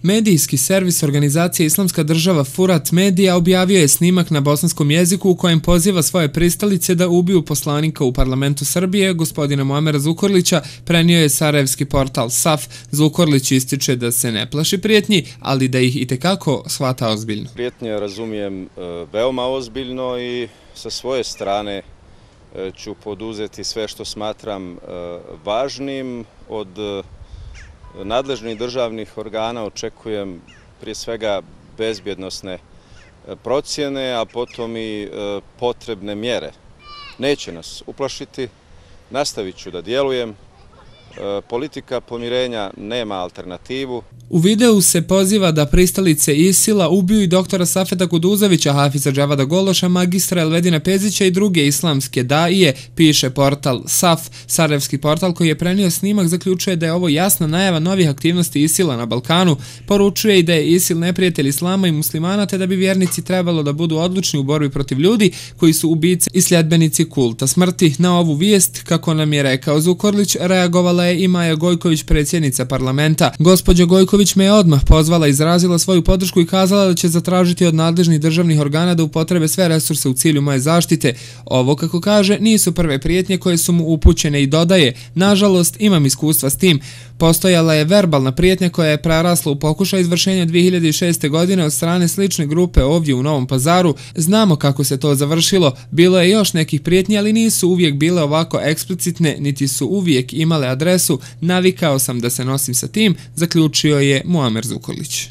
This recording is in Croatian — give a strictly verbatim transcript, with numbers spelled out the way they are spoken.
Medijski servis organizacije Islamska država Furat Medija objavio je snimak na bosanskom jeziku u kojem poziva svoje pristalice da ubiju poslanika u parlamentu Srbije, gospodina Muamera Zukorlića, prenio je sarajevski portal SAF. Zukorlić ističe da se ne plaši prijetnji, ali da ih itekako shvata ozbiljno. Prijetnje razumijem veoma ozbiljno i sa svoje strane ću poduzeti sve što smatram važnim. Od nadležnih državnih organa očekujem prije svega bezbjednosne procjene, a potom i potrebne mjere. Neće nas uplašiti, nastavit ću da djelujem. Politika pomirenja nema alternativu. U videu se poziva da pristalice ISIL-a ubiju i doktora Safeta Kuduzovića, Hafiza Džavada Gološa, magistra Elvedina Pezića i druge islamske daije, piše portal SAF. Sarajevski portal koji je prenio snimak zaključuje da je ovo jasna najava novih aktivnosti ISIL-a na Balkanu. Poručuje i da je ISIL neprijatelj islama i muslimana, te da bi vjernici trebalo da budu odlučni u borbi protiv ljudi koji su ubice i sljedbenici kulta smrti. Na ovu vijest, kako nam je rekao Zukorlić, reagovala je i Maja Gojković, predsjednica parlamenta. Gospođa Gojković me je odmah pozvala, izrazila svoju podršku i kazala da će zatražiti od nadležnih državnih organa da upotrebe sve resurse u cilju moje zaštite. Ovo, kako kaže, nisu prve prijetnje koje su mu upućene i dodaje: nažalost, imam iskustva s tim. Postojala je verbalna prijetnja koja je prerasla u pokušaj izvršenja dvije hiljade šeste. godine od strane slične grupe ovdje u Novom Pazaru. Znamo kako se to završilo. Bilo je još nekih prijetnji, ali nisu uvijek bile ovako eksplicitne, niti su uvijek imale adresu. Navikao sam da se nosim sa tim, zaključio je Muamer Zukorlić.